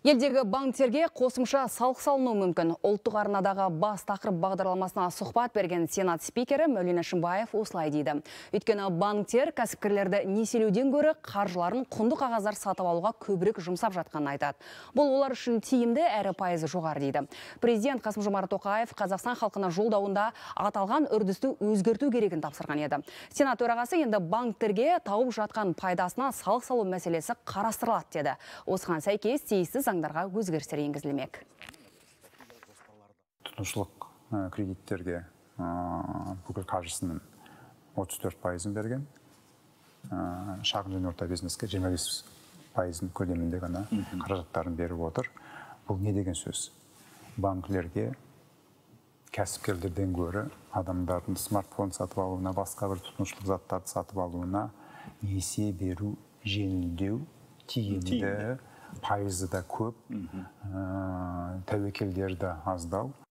Елдегі банктерге қосымша салық салыну мүмкін. Ұлттық арнадағы бас тақырып бағдарламасына сұхбат берген Сенат спикері Мәулен Әшімбаев осылай дейді. Өйткені банктер кәсіпкерлерді несиелеуден гөрі қаржыларын құнды қағаздар сатып алуға көбірек жұмсап жатқанын айтады. Бұл олар үшін тиімді әрі пайызы жоғары дейді. Президент Қасым-Жомарт Тоқаев Қазақстан халқына жолдауында аталған үрдісті өзгерту керегін тапсырған еді. Сенат төрағасы енді банктерге тауып жатқан пайдасына салық салу мәселесі қарастырылады деді. Осыған сәйкес тиісті заңдарға өзгерістер енгізілмек. Тұтынушылық кредиттерге бүкіл қаржысының 34%-ын берген, шағын және орта бизнеске 25%-ын көлемінде ғана қаражаттарын беріп отыр. Бұл не деген сөз? Банкілерге кәсіпкерлерден гөрі адамдардың смартфон сатып алуына, басқа бір тұтынушылық заттарды сатып алуына несие беру жеңілдеу, тиімді, пайызы да көп, тәуекелдері де аздау.